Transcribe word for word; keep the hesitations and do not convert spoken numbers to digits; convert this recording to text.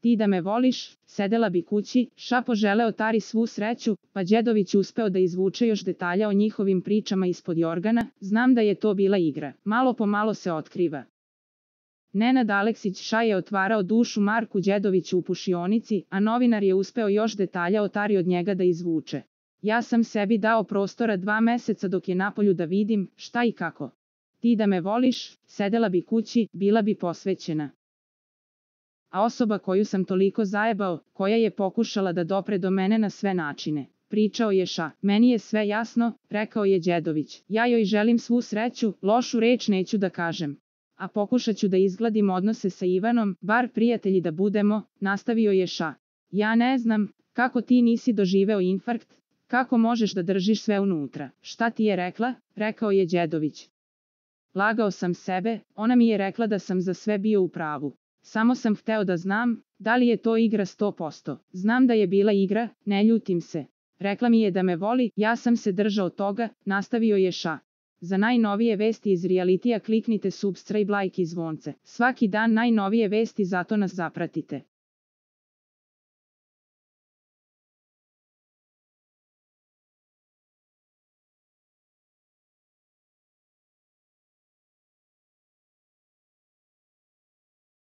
Ti da me voliš, sedela bi kući, ša poželeo Tari svu sreću, pa Đedović uspeo da izvuče još detalja o njihovim pričama ispod jorgana, znam da je to bila igra, malo po malo se otkriva. Nenad Aleksić ša je otvarao dušu Marku Đedoviću u pušionici, a novinar je uspeo još detalja o Tari od njega da izvuče. Ja sam sebi dao prostora dva meseca dok je napolju da vidim šta i kako. Ti da me voliš, sedela bi kući, bila bi posvećena. A osoba koju sam toliko zajebao, koja je pokušala da dopre do mene na sve načine. Pričao je ša, meni je sve jasno, rekao je Đedović. Ja joj želim svu sreću, lošu reč neću da kažem. A pokušat ću da izgladim odnose sa Ivanom, bar prijatelji da budemo, nastavio je ša. Ja ne znam, kako ti nisi doživeo infarkt, kako možeš da držiš sve unutra. Šta ti je rekla? Rekao je Đedović. Lagao sam sebe, ona mi je rekla da sam za sve bio u pravu. Samo sam hteo da znam, da li je to igra sto posto. Znam da je bila igra, ne ljutim se. Rekla mi je da me voli, ja sam se držao toga, nastavio je ša. Za najnovije vesti iz realitija kliknite subscribe, like i zvonce. Svaki dan najnovije vesti, zato nas zapratite.